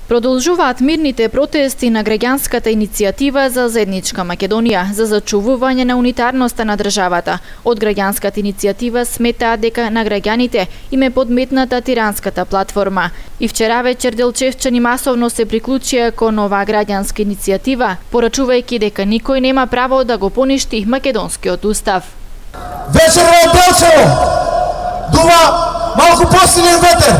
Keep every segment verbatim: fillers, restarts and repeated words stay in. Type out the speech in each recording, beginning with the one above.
Продолжуваат мирните протести на граѓанската иницијатива за заедничка Македонија за зачувување на унитарноста на државата. Од граѓанската иницијатива сметаат дека на граѓаните им е подметната тиранската платформа. И вчера вечер делчевчани масовно се приклучија кон оваа граѓанска иницијатива, порачувајќи дека никој нема право да го поништи македонскиот устав. Вечер во Делчево дува малку посилен ветер.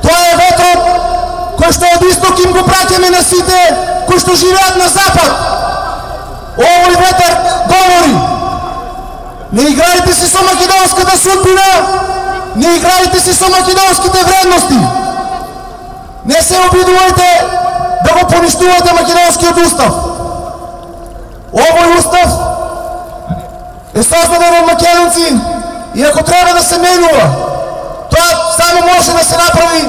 Тоа е ветрот кој што од исток им го праќаме на сите кои што живеат на запад. Овој ветер говори: не играјте се со македонската судбина, не играјте се со македонските вредности. Не се обидувајте да го поништувате македонскиот устав. Овој устав е создаден од македонци и ако треба да се менува, тоа само може да се направи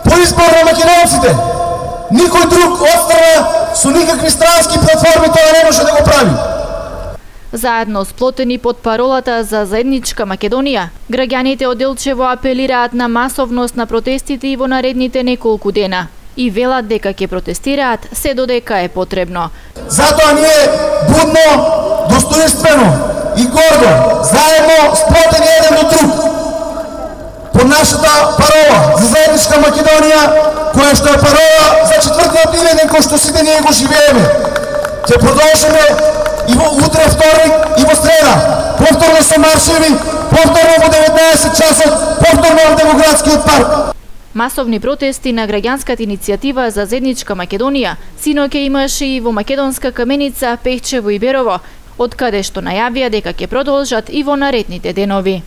по избор на македонците. Никој друг отстрана со никакви странски платформи тоа не може да го прави. Заедно сплотени под паролата за заедничка Македонија, граѓаните од Делчево апелираат на масовност на протестите и во наредните неколку дена и велат дека ќе протестираат се додека е потребно. Затоа ние будно, достоинствено и гордо, заедно сплотени еден до друг, по нашата парола за заедничка Македонија, која што е парола за четвртиот илјаден кој што сите ние го живееме. Ќе продолжиме и во утре вторник и во среда, повторно со маршеви, повторно во деветнаесет часот, повторно во Демократскиот парк. Масовни протести на граѓанската иницијатива за заедничка Македонија синоќа имаше и во македонска Каменица, Пехчево и Берово, од каде што најавија дека ќе продолжат и во наредните денови.